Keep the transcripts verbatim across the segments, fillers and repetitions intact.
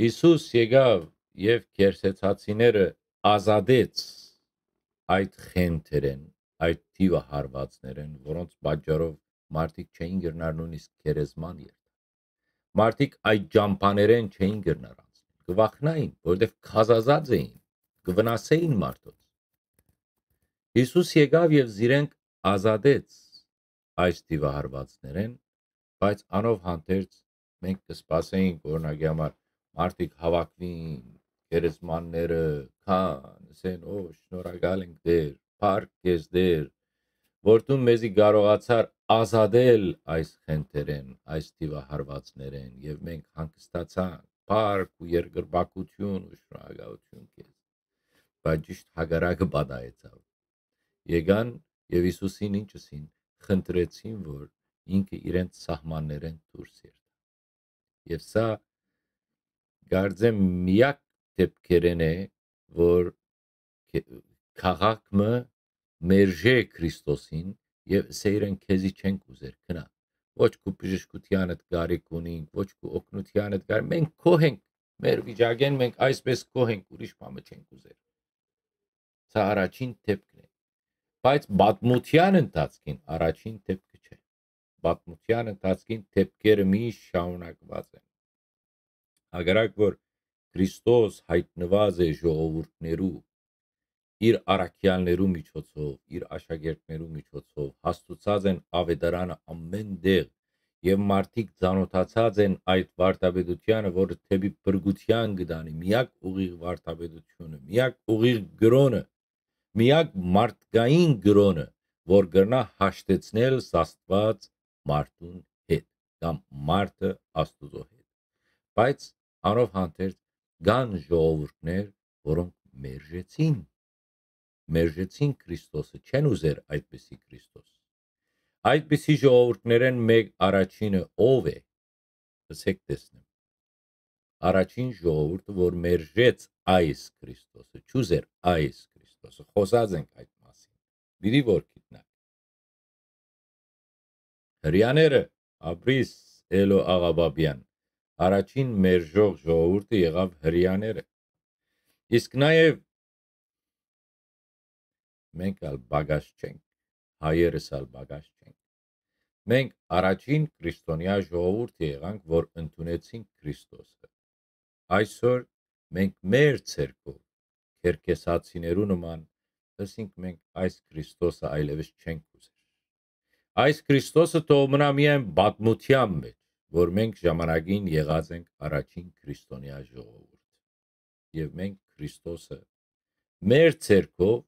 Յիսուս եկաւ եւ կերսեցացիները ազատեց այդ խենթերէն, այդ թիւը հարվածներէն, որոնց պատճառով մարդիկ չէին կրնար նույնիսկ գերեզման երթալ։ Մարդիկ այդ ճամբաներէն չէին կրնար անցնել։ Կը վախնային, որովհետեւ քազազած էին, կը վնասէին մարդոց։ Յիսուս եկաւ եւ զիրենք ազատեց այս թիւը հարվածներէն, բայց անով հանդերձ մենք կը սպասենք, օրինակի համար, մարդիկ հաւաքուին, գերեզմանները կան, ասեն, «Ո, շնորհակալ ենք, Տէր, փառք քեզ, Տէր, որ դուն մեզի կարողացար ազատել այս խենթերէն, այս թիւը հարվածներէն, եւ մենք հանգստացանք, փառք ու երկրպագություն ու շնորհակալություն քեզ»։ Բայց ճիշդ հակառակը պատահեցաւ։ Եկան եւ Յիսուսին ինչ ըսին, խնդրեցին, որ ինքը իրենց սահմաններէն դուրս երթայ։ Եւ սա, կարծեմ, միակ դեպքերէն է, որ կե-, քաղաք մը մերժէ Քրիստոսին եւ ըսէ իրեն, «Քեզի չենք ուզեր, գնա։ Ոչ քու բժշկութեանդ կարիք ունինք, ոչ քու օգնութեանդ կարիք, մենք գոհ ենք, մեր վիճակէն մենք այսպես գոհ ենք, ուրիշ բան մը չենք ուզեր»։ Սա առաջին դեպքն է։ Բայց պատմութեան ընթացքին առաջին դեպքը չէ։ Պատմութեան ընթացքին դեպքերը միշտ շարունակուած են։ Հակառակ որ Քրիստոս յայտնուած է ժողովուրդներու, իր առաքեալներու միջոցով, իր աշակերտներու միջոցով, հաստուցած են աւետարանը ամէն տեղ, եւ մարդիկ ծանօթացած են այդ վարդապետութեանը, որը դէպի փրկութեան կը տանի, միակ ուղիղ վարդապետությունը, միակ ուղիղ կրօնը, միակ մարդկային կրօնը, որ կրնայ հաշտեցնել Աստուած մարդուն հետ, կամ մարդը Աստուծոյ հետ։ Բայց անով հանդերձ կան ժողովուրդներ, որոնք մերժեցին, մերժեցին Քրիստոսը, չեն ուզեր այդպիսի Քրիստոս։ Այդպիսի ժողովուրդներէն մէկ առաջինը ո՞վ է, ըսեք տեսնեմ։ Առաջին ժողովուրդը, որ մերժեց այս Քրիստոսը, չուզեր այս Քրիստոսը, խօսած ենք այդ մասին, պիտի որ գիտնաք։ Հրեաները, ապրիս Էլո Աղաբաբեան, առաջին մերժող ժողովուրդը եղաւ հրեաները։ Իսկ նաեւ մենք ալ պակաս չենք, հայերս ալ պակաս չենք։ Մենք առաջին քրիստոնեայ ժողովուրդը եղանք, որ ընդունեցինք Քրիստոսը։ Այսօր մենք մեր ցերկով, քերքեսացիներու նման, ըսինք, մենք այս Քրիստոսը այլևս չենք ուզեր։ Այս Քրիստոսը թող մնայ միայն պատմութեան մէջ, որ մենք ժամանակին եղած ենք առաջին քրիստոնեայ ժողովուրդ։ Եւ մենք Քրիստոսը մեր ցերկով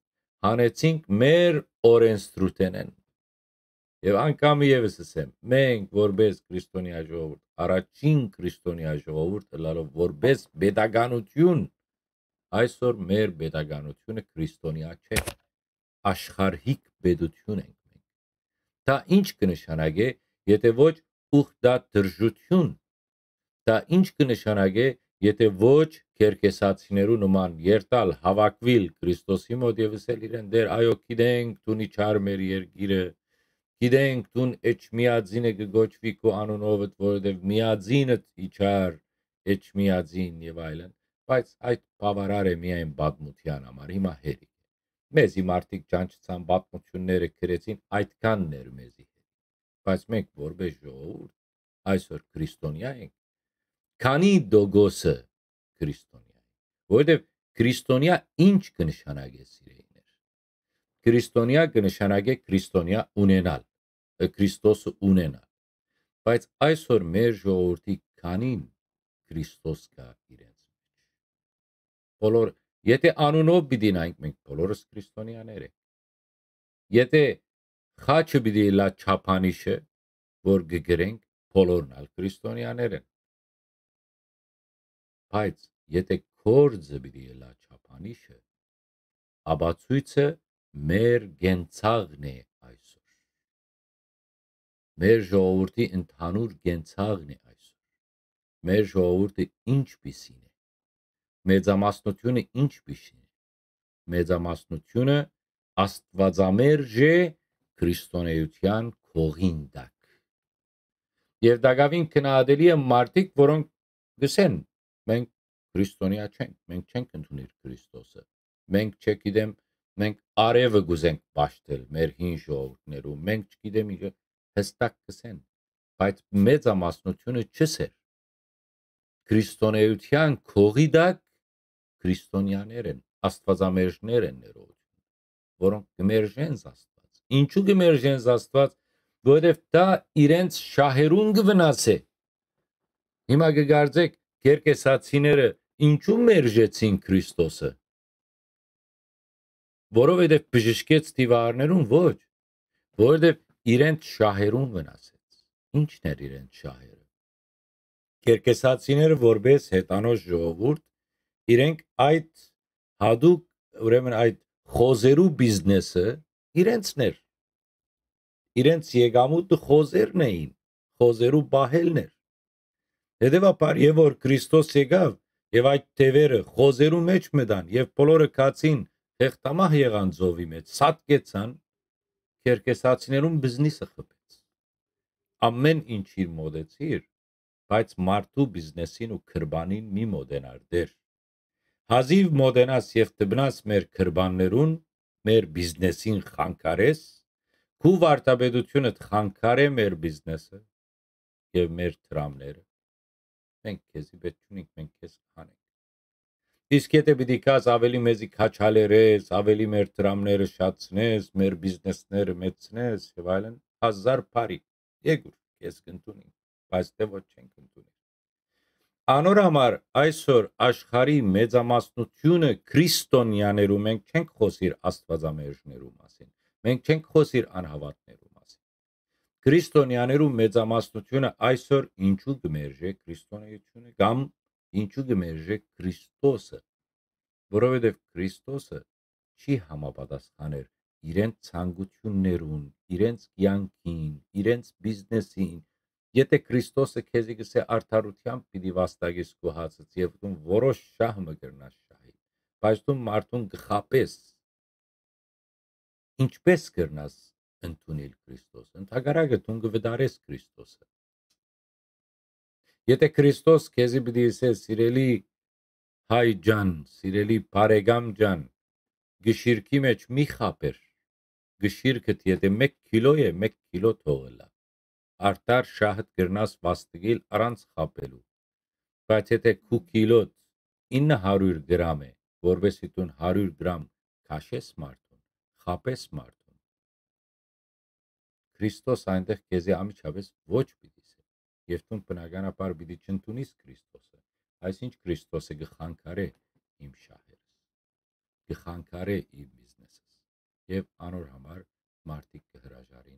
հանեցինք մեր օրենսդրութենէն։ Եւ անգամ եւս ըսեմ, մենք որպես քրիստոնեայ ժողովուրդ, առաջին քրիստոնեայ ժողովուրդ ըլլալով որպես պետականություն, այսօր մեր պետականությունը քրիստոնեայ չէ, աշխարհիկ պետություն ենք մենք։ Դա ինչ կը նշանակէ, եթե ոչ ուխտատրժություն, դա ինչ կը նշանակէ, եթե ոչ քերքեսացիներու նման երթալ, հաւաքուիլ Քրիստոսի մօտ եւ ըսել իրեն, «Տէր, այո, գիտենք դուն իջար մեր երկիրը, գիտենք դուն Էջմիածինը կը կոչուի քու անունովդ, որովհետեւ միածինդ իջար Էջմիածին» եւ այլն, բայց այդ բաւարար է միայն պատմութեան համար, հիմա հեռի։ Մեզի մարդիկ ճանչցան, պատմությունները գրեցին, այդքանն էր մեզի հետ։ Բայց մենք որպես ժողովուրդ այսօր քրիստոնեայ ենք, քանի դոգոսը քրիստոնեայ է, որովհետեւ քրիստոնեայ ինչ կը նշանակէ, սիրելիներ։ Քրիստոնեայ կը նշանակէ քրիստոնեայ ունենալ, ը, Քրիստոսը ունենալ։ Բայց այսօր մեր ժողովուրդի քանին Քրիստոս կայ իրենց մէջ։ Բոլոր, եթե անունով պիտի նայենք, մենք բոլորս քրիստոնեաներ ենք։ Եթե խաչը պիտի ըլլայ չափանիշը, որ կը գրենք, բոլորն ալ քրիստոնեաներ են։ Բայց եթե գործը պիտի ըլլայ չափանիշը, ապացոյցը մեր կենցաղն է այսօր։ Մեր ժողովուրդի ընդհանուր կենցաղն է այսօր։ Մեր ժողովուրդը ինչպիսին է։ Մեծամասնությունը ինչպիսին է։ Մեծամասնությունը աստուածամերժ է քրիստոնեայութեան կողին տակ։ Եւ տակաւին գնահատելի է մարդիկ, որոնք գսեն, մենք քրիստոնեայ չենք, մենք չենք ընդունիր Քրիստոսը։ Մենք, չգիտեմ, մենք արեւը կ'ուզենք պաշտել մեր հին ժողովուրդներու, մենք չգիտեմ ինչ, հստակ կ'ըսեն, բայց մեծամասնութիւնը չ'ըսեր։ Քրիստոնեայութեան կողի տակ քրիստոնեաներ են, աստուածամերժներ են ներողություն, որոնք կը մերժեն Աստուած։ Ինչու կը մերժեն Աստուած, որովհետեւ դա իրենց շահերուն կը վնասէ։ Հիմա կը կարծէք, կերկեսացիները ինչու մերժեցին Քրիստոսը, որովհետեւ բժշկեց դիվարներուն, ոչ, որովհետեւ իրենց շահերուն վնասեց։ Ի՞նչն էր իրենց շահերը։ Կերկեսացիները, որպես հեթանոս ժողովուրդ, իրենք այդ յատուկ, ուրեմն այդ խոզերու բիզնեսը իրենցն էր։ Իրենց եկամուտը խոզերն էին, խոզերու պահելն էր։ Հետևաբար, եւ որ Քրիստոս եկաւ եւ այդ թեւերը խոզերու մէջ մտան եւ բոլորը գացին, հեղտամահ եղան ծովի մէջ, սատկեցան, կերկեսացիներուն բիզնիսը խփեց։ Ամեն ինչ իր մոտեցիր, բայց մարդու բիզնեսին ու քրբանին մի մոտենար, դեր։ Հազիւ մոտենաս եւ դպնաս մեր քրբաններուն, մեր բիզնեսին խանգարես, քու վարդապետությունդ խանգարէ մեր բիզնեսը եւ մեր դրամները, մենք քեզի պէտք չունենք, մենք քեզ հանենք։ Իսկ եթե պիտի գաս, ավելի մեզի քաչալերես, ավելի մեր դրամները շատցնես, մեր բիզնեսները մեծցնես եւ այլն, հազար բարի, եկուր, քեզ կ'ընդունենք, բայց դեռ ոչ չենք ընդունիր։ Անոր համար այսօր աշխարհի մեծամասնությունը քրիստոնեաներու, մենք չենք խօսիր աստուածամերժներու մասին, մենք չենք խօսիր անհաւատներու մասին։ Քրիստոնեաներու մեծամասնությունը այսօր ինչու կը մերժէ քրիստոնեությունը կամ ինչու կը մերժէ Քրիստոսը, որովհետեւ Քրիստոսը չի համապատասխաներ իրենց ցանկություններուն, իրենց կեանքին, իրենց բիզնեսին։ Եթե Քրիստոսը քեզի կ'ըսէ, արդարութեամբ պիտի վաստակես քու հացդ եւ դուն որոշ շահ մը կրնաս շահի, բայց դու մարդուն կը խաբես, ինչպէս կրնաս ընդունիլ Քրիստոսը։ Ընդհակառակը, դուն կը վտարես Քրիստոսը։ Եթե Քրիստոս քեզի պիտի ըսէ, սիրելի հայ ջան, սիրելի բարեկամ ջան, գշիրքի մէջ մի խաբեր, գշիրքդ եթե մէկ քիլո է, մէկ քիլո թող ըլլայ, արդար շահդ կրնաս վաստակիլ առանց խաբելու, բայց եթե քու քիլոդ ինը հարիւր գրամ է, որպէսզի դուն հարիւր գրամ քաշես մարդուն, խաբես մարդուն, Քրիստոս այնտեղ քեզի անմիջապէս ոչ պիտի ըսէ, եւ դուն բնականաբար պիտի չընդունիս Քրիստոսը, այսինչ Քրիստոսը կը խանգարէ իմ շահերս, կը խանգարէ իմ բիզնեսս, եւ անոր համար մարդիկ կը հրաժարին